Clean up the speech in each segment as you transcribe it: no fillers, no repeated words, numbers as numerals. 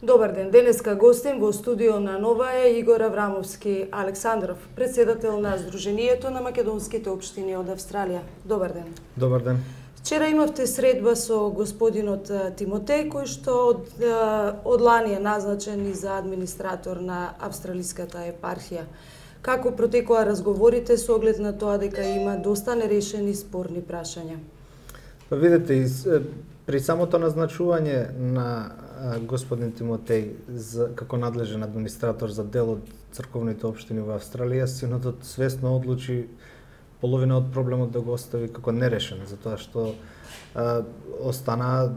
Добар ден, денеска гостин во студио на Нова е Игор Аврамовски Александров, председател на Сдруженијето на македонските општини од Австралија. Добар ден. Добар ден. Вчера имавте средба со господинот Тимотеј, кој што од лани е назначен и за администратор на австралиската епархија. Како протекоа разговорите со оглед на тоа дека има доста нерешени спорни прашања? Па видете, при самото назначување на господин Тимотеј како надлежен администратор за дел од црковните општини во Австралија, синодот свесно одлучи половина од проблемот да го остави како нерешен, затоа што остана,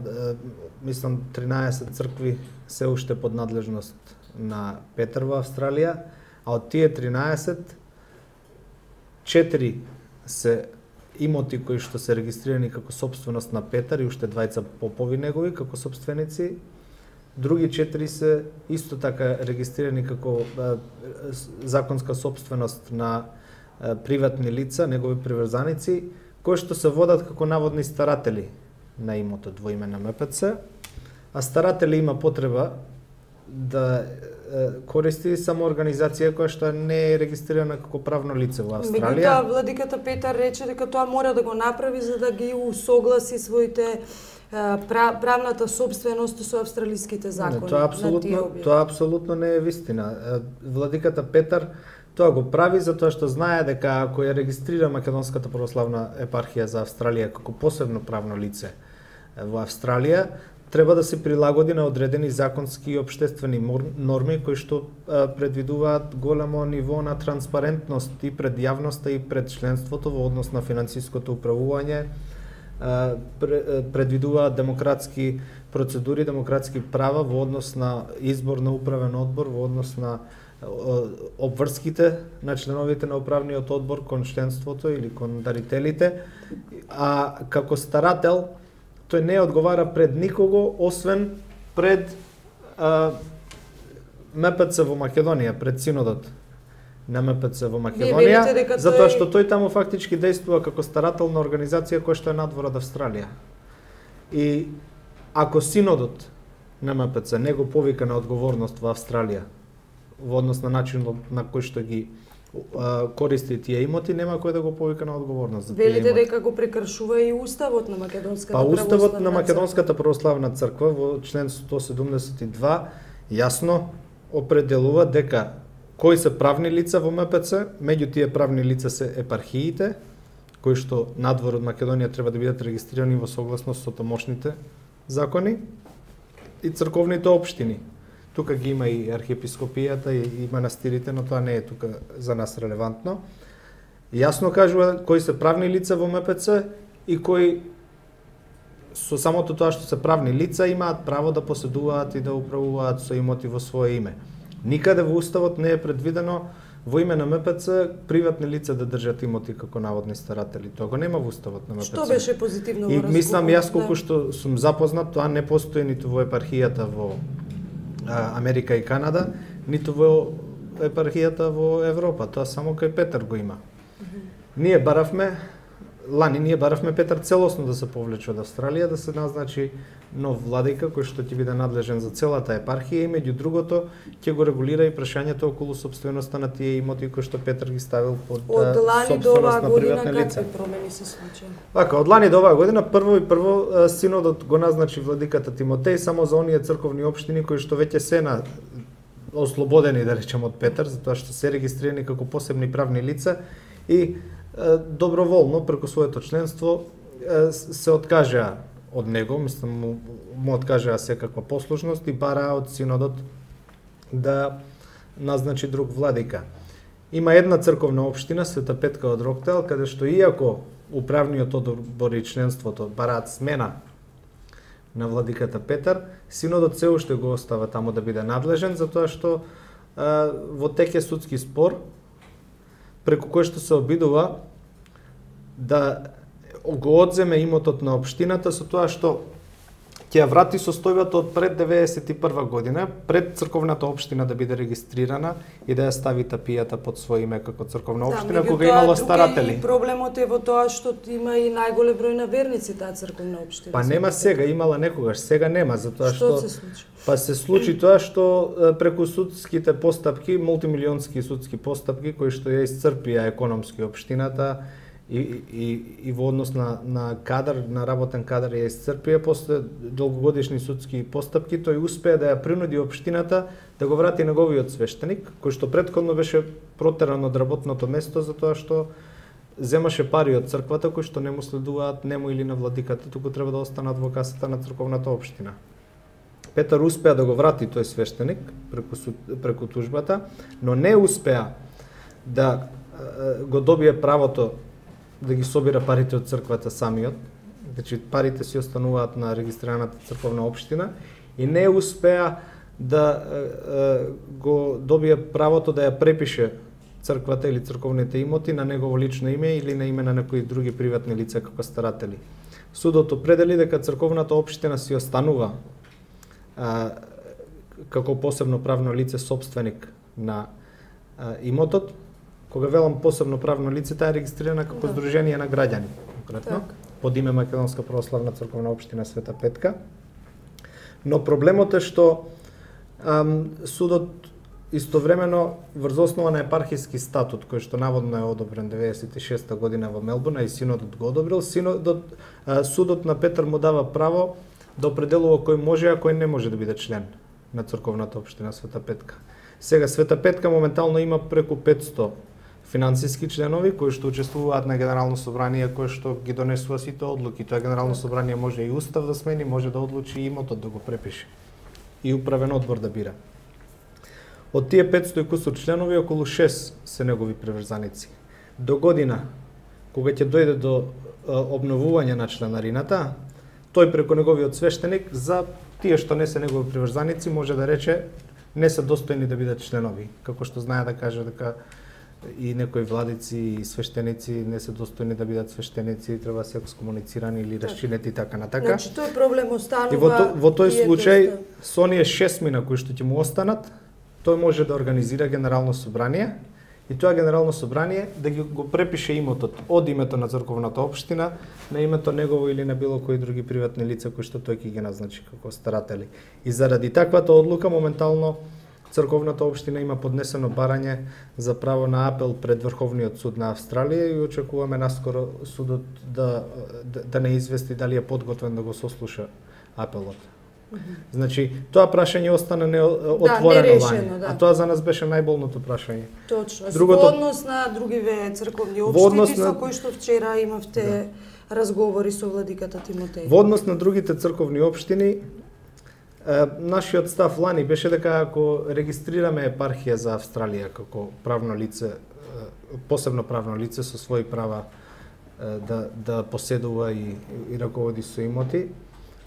мислам, 13 цркви се уште под надлежност на Петар во Австралија, а од тие 13, 4 се имоти кои што се регистрирани како собственост на Петар и уште двајца попови негови како собственици. Други 4 се исто така регистрирани како законска собственост на приватни лица, негови приврзаници, кои што се водат како наводни старатели на имотот во име на МПЦ, а старатели има потреба да користи само организација која што не е регистрирана како правно лице во Австралија. Меѓутоа, владиката Петар рече дека тоа мора да го направи за да ги усогласи своите правната собственост со австралиските закони. Тоа апсолутно не е вистина. Владиката Петар тоа го прави затоа што знае дека ако ја регистрира Македонската православна епархија за Австралија како посебно правно лице во Австралија, треба да се прилагоди на одредени законски и општествени норми кои што предвидуваат големо ниво на транспарентност и пред јавноста и пред членството во однос на финансиското управување, предвидуваат демократски процедури, демократски права во однос на избор на управен одбор, во однос на обврските на членовите на управниот одбор кон членството или кон дарителите, а како старател тој не одговара пред никого, освен пред МПЦ во Македонија, пред синодот на МПЦ во Македонија, затоа што тој таму фактички действува како старател на организација која што е надвор од Австралија. И ако синодот на МПЦ не го повика на одговорност во Австралија, во однос на начинот на кој што ги користи тие имоти, нема кој да го повика на одговорност за тие имоти. Велите дека го прекршува и уставот на Македонската православна црква. Уставот на Македонската православна црква во член 172 јасно определува дека кои се правни лица во МПЦ, меѓу тие правни лица се епархиите, кои што надвор од Македонија треба да бидат регистрирани во согласност со тамошните закони, и црковните општини. Тука ги има и архиепископијата и манастирите, но тоа не е тука за нас релевантно. Јасно кажува кои се правни лица во МПЦ и кои со самото тоа што се правни лица имаат право да поседуваат и да управуваат со имоти во свое име. Никаде во уставот не е предвидено во име на МПЦ приватни лица да држат имоти како наводни старатели. Тоа го нема во уставот на МПЦ. Што беше позитивно во разговорот? И мислам, јас колку што сум запознат, тоа не постои ниту во епархијата во Америка и Канада, ниту во епархијата во Европа. Тоа само кај Петар го има. Ние баравме Петар целосно да се повлече од Австралија, да се назначи нов владика кој што ќе биде надлежен за целата епархија и меѓу другото ќе го регулира и прашањето околу собственоста на тие имоти кои што Петар ги ставил под собственост на приватни лица. Какви промени се случија? Така, од лани до оваа година прво синодот го назначи владиката Тимотеј само за оние црковни општини кои што веќе се на ослободени, да речем, од Петар, затоа што се регистрирани како посебни правни лица и доброволно преку своето членство се откажаа од него, мислам му откажаа секаква послушност и бараа од синодот да назначи друг владика. Има една црковна општина, Света Петка од Роктейл, каде што иако управниот одбор и членството бараат смена на владиката Петар, синодот се уште го остава таму да биде надлежен, затоа што во тек е судски спор преку кој што се обидува да го одземе имотот на општината со тоа што ќе ја врати состојбата од пред 91 година, пред црковната општина да биде регистрирана и да ја стави тапијата под своје име како црковна општина, кога имало старатели. И проблемот е во тоа што има и најголем број на верници таа црковна општина. Па нема сега, имала некогаш, сега нема, затоа што се случи? Па се случи тоа што преку судските постапки, мултимилионски судски постапки кои што ја исцрпија економски општината, и во однос на кадар, на работен кадар ја исцрпија, после долгогодишни судски постапки, тој успеа да ја принуди општината да го врати неговиот свештеник, кој што претходно беше протеран од работното место затоа што земаше пари од црквата кои што не му следуваат нему или на владиката, туку треба да останат во касата на црковната општина. Петар успеа да го врати тој свештеник преку тужбата, но не успеа да го добие правото да ги собира парите од црквата самиот, значи парите си остануваат на регистрираната црковна општина и не успеа да го добие правото да ја препише црквата или црковните имоти на негово лично име или на име на некои други приватни лица како старатели. Судот определи дека црковната општина си останува како посебно правно лице собственик на имотот. Кога велам посебно правно лице, таа е регистрирана како Сдружение на граѓани, конкретно, под име Македонска православна црковна општина Света Петка. Но проблемот е што судот истовремено врз основа на епархиски статут, кој што наводно е одобрен 96-та година во Мелбурн, и синодот го одобрил, судот на Петар му дава право да определува кој може, а кој не може да биде член на црковната општина Света Петка. Сега Света Петка моментално има преку 500 финансиски членови кои што учествуваат на Генерално собрание, кои што ги донесува сите одлуки. Тоа Генерално собрание може и устав да смени, може да одлучи и имотот да го препише. И управен одбор да бира. Од тие 500 и кусур членови, околу 6 се негови приврзаници. До година, кога ќе дојде до обновување на членарината, тој преку неговиот свештеник за тие што не се негови приврзаници може да рече не се достојни да бидат членови, како што знае да каже дека и некои владици и свештеници не се достојни да бидат свештеници, треба се екскомуницирани или расчинети така натака. Значи тој проблем останува. И во тој случај со оние 6 мина кои што ќе му останат, тој може да организира Генерално собрание и тоа Генерално собрание да го препише имотот од името на црковната општина на името негово или на било кои други приватни лица кои што тој ќе ги назначи како старатели. И заради таквата одлука моментално црковната општина има поднесено барање за право на апел пред Врховниот суд на Австралија и очекуваме наскоро судот да не извести дали е подготвен да го сослуша апелот. Значи, тоа прашање остана неотворено лани, а тоа за нас беше најболното прашање. Точно. Во однос на другиве црковни општини со кои што вчера имавте разговори со владиката Тимотеј. Во однос на другите црковни општини, нашиот став лани беше дека ако регистрираме епархија за Австралија како правно лице, посебно правно лице со своји права да поседува и раководи со имоти,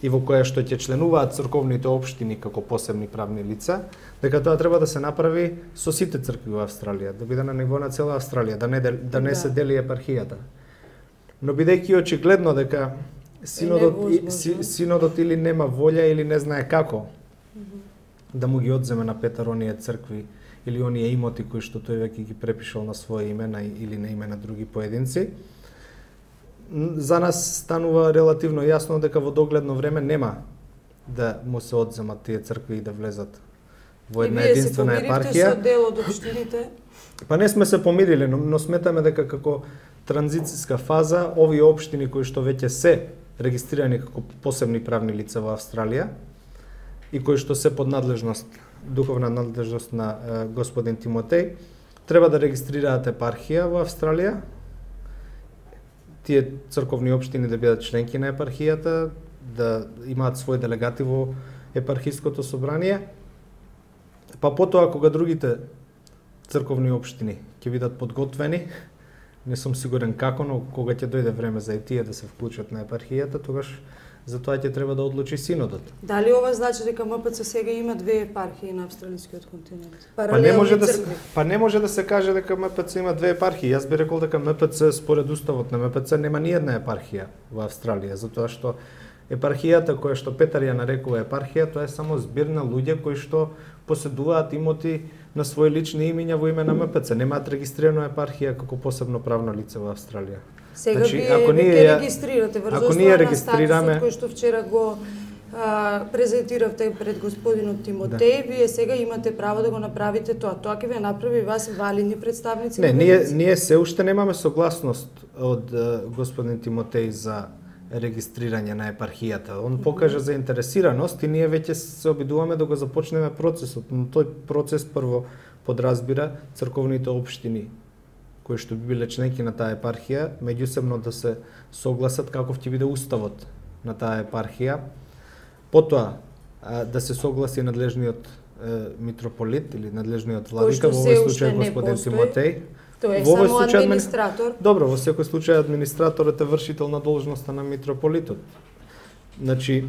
и во која што ќе членуваат црковните општини како посебни правни лица, дека тоа треба да се направи со сите цркви во Австралија, да биде на ниво на цела Австралија, да не се дели епархијата. Но бидејќи очигледно дека синодот или нема волја или не знае како да му ги одземе на Петар оние цркви или оние имоти кои што тој веќе ги препишал на своје име или на име на други поединци, за нас станува релативно јасно дека во догледно време нема да му се одземат тие цркви и да влезат во една единствена епархија. Вие се помиривте со дел од општините? Па не сме се помириле, но сметаме дека како транзициска фаза овие општини кои што веќе се регистрирани како посебни правни лица во Австралија и кои што се под надлежност, духовна надлежност на господин Тимотеј, треба да регистрираат епархија во Австралија. Тие црковни општини да бидат членки на епархијата, да имаат свој делегати во епархиското собрание. Па потоа кога другите црковни општини ќе бидат подготвени, не сум сигурен како, но кога ќе дојде време за и тие да се вклучат на епархијата, тогаш за тоа ќе треба да одлучи синодот. Дали ова значи дека МПЦ сега има две епархии на австралискиот континент? Па не може да се каже дека МПЦ има две епархии. Јас би рекол дека МПЦ според уставот на МПЦ нема ни една епархија во Австралија, затоа што Епархијата која што Петар ја нарекува епархија, тоа е само збир на луѓе кои што поседуваат имоти на свои лични имиња во име на МПЦ. Немаат регистрирано епархија како посебно правно лице во Австралија. Сега ако ние регистрирате врз основа на статусот кој што вчера го презентиравте пред господинот Тимотеј, вие сега имате право да го направите тоа. Тоа ќе ве направи вас валидни представници? Не, ние се уште немаме согласност од господин Тимотеј за регистрирање на епархијата. Он покажа заинтересираност и ние веќе се обидуваме да го започнеме процесот, но тој процес прво подразбира црковните општини кои што би биле членки на таа епархија, меѓусебно да се согласат каков ќе биде уставот на таа епархија. Потоа да се согласи надлежниот митрополит или надлежниот владика, во овој случај господин Тимотеј. Тој е само администратор. Добро, во секој случај администраторот е вршител на должноста на митрополитот. Значи,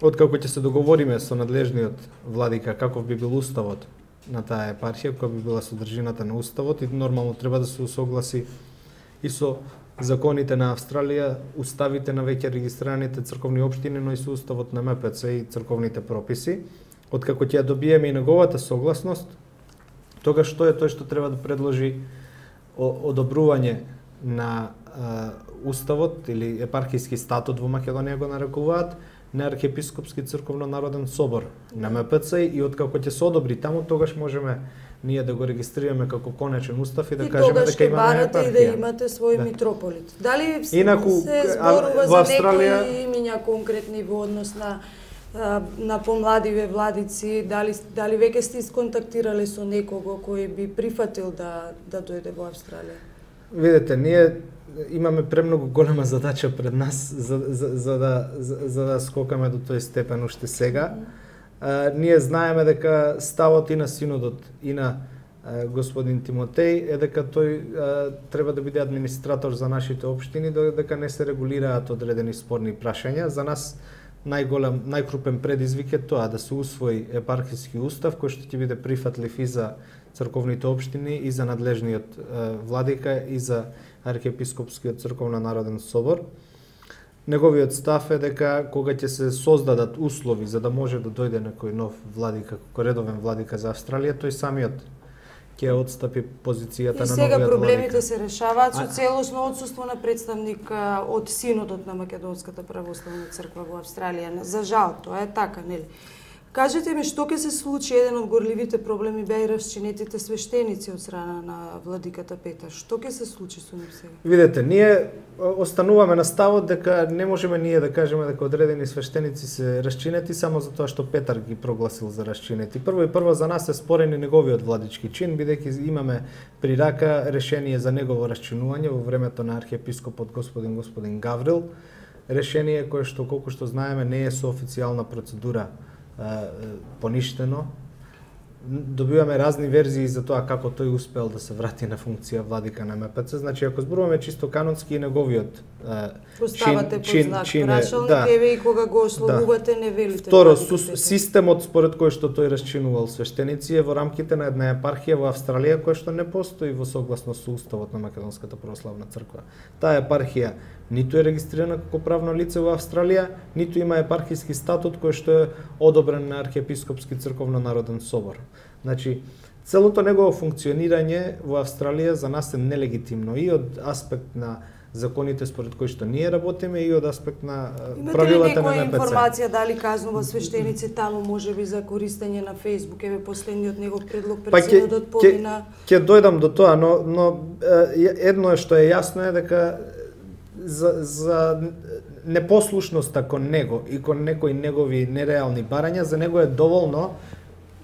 откако ќе се договориме со надлежниот владика каков би бил уставот на таа епархија, која би била содржината на уставот, и нормално треба да се усогласи и со законите на Австралија, уставите на веќе регистрираните црковни општини, но и со уставот на МПЦ и црковните прописи. Откако ќе ја добиеме и неговата согласност, тогаш што е тој што треба да предложи одобрување на уставот или епархиски статут во Македонија го нарекуваат на Архиепископски црковно-народен собор на МПЦ, и откако ќе се одобри таму, тогаш можеме ние да го регистрираме како конечен устав и да кажеме дека имаме епархија. И да имате свој митрополит. Дали се зборува во за некои имиња конкретни во однос на помладиве владици, дали веќе сте исконтактирале со некого кој би прифатил да дојде во Австралија? Видете, ние имаме премногу голема задача пред нас за да скокаме до тој степен уште сега. Ние знаеме дека ставот и на синодот и на господин Тимотеј е дека тој треба да биде администратор за нашите општини, дека не се регулираат одредени спорни прашања. За нас најкрупен предизвик е тоа да се усвои епархиски устав кој што ќе биде прифатлив и за црковните општини и за надлежниот владика и за Архиепископскиот црковно-народен собор. Неговиот став е дека кога ќе се создадат услови за да може да дојде некој нов владика, како редовен владика за Австралија, тој самиот ќе отстапи позицијата на новиот владика. И сега проблемите се решаваат со целосно отсуство на представник од Синодот на Македонската православна црква во Австралија. За жал, тоа е така, нели? Кажете ми, што ќе се случи? Еден од горливите проблеми беа и расчинетите свештеници од страна на владиката Петар. Што ќе се случи со нив сега? Видете, ние остануваме на ставот дека не можеме ние да кажеме дека одредени свештеници се расчинети само затоа што Петар ги прогласил за расчинети. Прво за нас е спорен и неговиот владички чин, бидејќи имаме при рака решение за негово расчинување во времето на архиепископот господин Гаврил. Решение кое што, колку што знаеме, не е со официјална процедура поништено. Добиваме разни верзии за тоа како тој успел да се врати на функција владика на МПЦ. Значи, ако зборуваме чисто канонски, неговиот поставате под знак прашалник, еве и кога го ослобувате, не велите. Второ, системот според кој што тој расчинувал свештеници е во рамките на една епархија во Австралија која што не постои во согласност со уставот на Македонската православна црква. Таа епархија ниту е регистрирана како правно лице во Австралија, ниту има епархиски статут кој што е одобрен на Архиепископски црковно-народен собор. Значи, целото негово функционирање во Австралија за нас е нелегитимно и од аспект на законите според кои што ние работиме и од аспект на правилата на МПЦ. Имате ли некоја информација дали казнува свештеници таму, можеби за користење на Facebook, еве последниот негов предлог пред синодот помина? Ќе дојдам до тоа, но едно е што е јасно е дека за непослушноста кон него и кон некои негови нереални барања, за него е доволно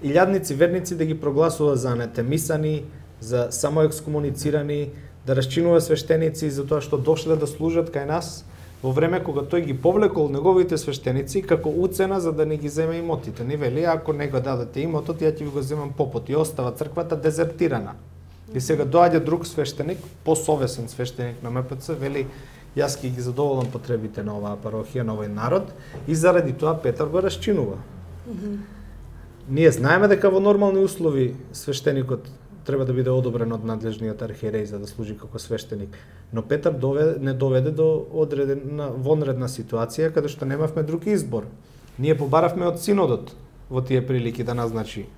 илјадници верници да ги прогласува за анатемисани, за самоекскомуницирани, да расчинува свештеници за тоа што дошле да служат кај нас во време кога тој ги повлекол неговите свештеници како уцена за да не ги земе имотите. Не вели, ако не го дадете имотот, ја ќе ви го земам попот, и остава црквата дезертирана. И сега доаѓа друг свештеник, посовесен свештеник на МПЦ, вели, јас ќе ги задоволам потребите на оваа парохија, на овој народ, и заради тоа Петар го расчинува. Ние знаеме дека во нормални услови свештеникот треба да биде одобрен од надлежниот архиереј за да служи како свештеник. Но Петар не доведе до вонредна ситуација каде што немавме друг избор. Ние побаравме од синодот во тие прилики да назначи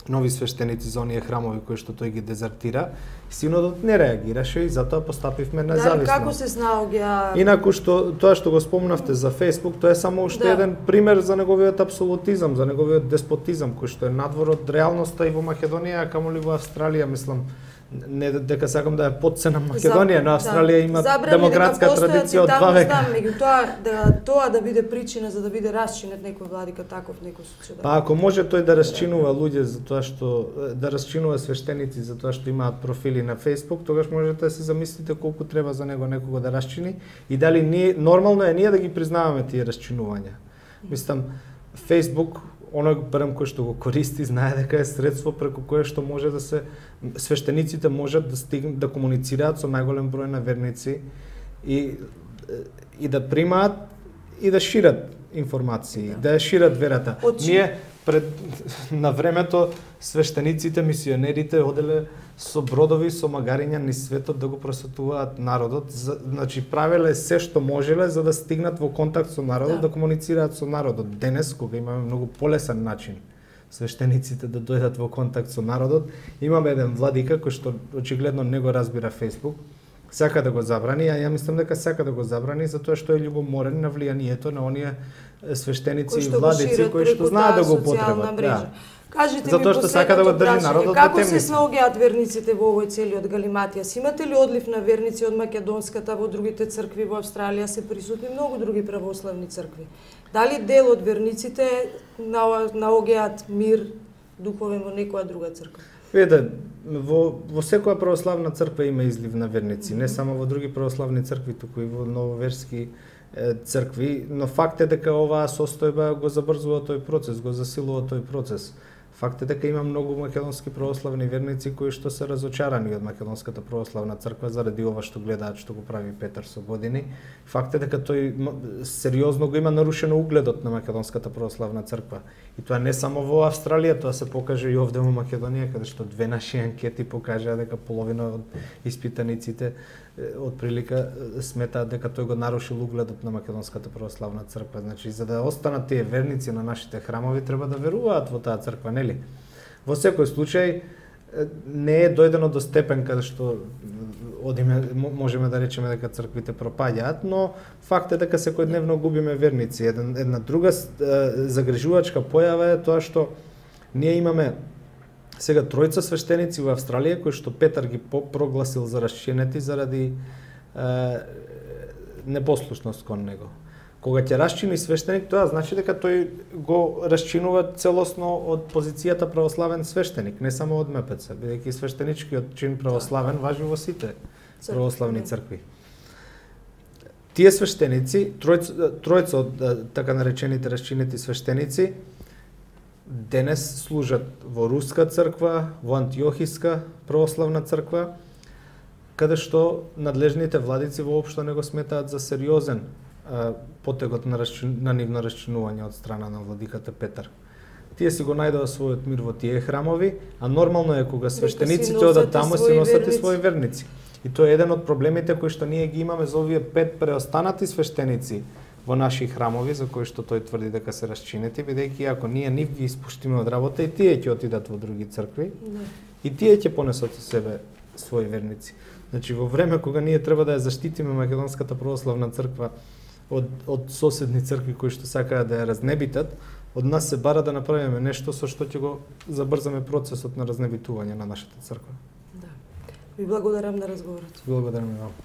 нови свештеници за оние храмови кои што тој ги дезертира. Синодот не реагираше и затоа постапивме независно. Како се снаоѓа? Инаку тоа што го спомнавте за Facebook, тоа е само уште еден пример за неговиот апсолутизам, за неговиот деспотизам кој што е надвор од реалноста и во Македонија, камоли во Австралија, мислам. Не дека сакам да ја подценам Македонија, но Австралија има демократска традиција од 2 века. Меѓутоа, тоа да биде причина за да биде расчинет некој владика таков некој случај. Па ако може тој да расчинува луѓе за тоа што да расчинува свештеници за тоа што имаат профили на Facebook, тогаш можете да се замислите колку треба за него некого да расчини и дали нормално е ние да ги признаваме тие расчинувања. Мислам, Facebook оној барем кој што го користи знае дека е средство преку кое што може да се свештениците можат да комуницираат со најголем број на верници и да примаат и да шират информации, да ја шират верата. Ние на времето свештениците, мисионерите оделе со бродови, со магариња низ светот да го просветуваат народот, значи правеле се што можеле за да стигнат во контакт со народот, да комуницираат со народот. Денес, кога имаме многу полесен начин свештениците да дојдат во контакт со народот, имаме еден владика кој што очигледно не го разбира Facebook, сака да го забрани, а ја мислам дека сака да го забрани затоа што е љубоморен на влијанието на оние свештеници и владици кои што знаат да го употребат. Кажете затоа што сака да го држи народот како се снаоѓаат верниците во овој целиот галиматија? Имате ли одлив на верници од македонската во другите цркви во Австралија? Се присутни многу други православни цркви. Дали дел од верниците наоѓаат мир духовен во некоја друга црква? Видете, во секоја православна црква има излив на верници, не само во други православни цркви, туку и во нововерски цркви, но факт е дека оваа состојба го забрзува тој процес, го засилува тој процес. Факт е дека има многу македонски православни верници кои што се разочарани од македонската православна црква заради ова што гледаат што го прави Петар со години. Факт е дека тој сериозно го има нарушено угледот на македонската православна црква. И тоа не само во Австралија, тоа се покаже и овде во Македонија, каде што 2 наши анкети покажаа дека половина од испитаниците од прилика сметаат дека тој го нарушил угледот на македонската православна црква. Значи, за да останат тие верници на нашите храмови, треба да веруваат во таа црква, нели? Во секој случај не е дојдено до степен каде што можеме да речеме дека црквите пропаѓаат, но факт е дека секојдневно губиме верници. Една друга загрижувачка појава е тоа што ние имаме сега 3 свештеници во Австралија кои што Петар ги прогласил за расчинети заради непослушност кон него. Кога ќе расчини свештеник, тоа значи дека тој го расчинува целосно од позицијата православен свештеник, не само од МПЦ, бидејќи свештеничкиот чин православен важи во сите православни цркви. Тие свештеници, тројца од така наречените расчинети свештеници, денес служат во Руска црква, во Антиохиска православна црква, каде што надлежните владици воопшто не го сметаат за сериозен потегот на нивно расчинување од страна на владиката Петар. Тие си го најдоа својот мир во тие храмови, а нормално е кога свештениците одат таму си носат и своји верници. И тоа е еден од проблемите кои што ние ги имаме за овие 5 преостанати свештеници во наши храмови, за кои што тој тврди дека се расчинети, бидејќи ако ние нив ги испуштиме од работа, и тие ќе отидат во други цркви, и тие ќе понесат со себе своји верници. Значи, во време кога ние треба да ја заштитиме македонската православна црква од соседни цркви кои што сакаат да ја разнебитат, од нас се бара да направиме нешто со што ќе го забрзаме процесот на разнебитување на нашата црква. Да. Ви благодарам на разговорот. Благодарам и вам.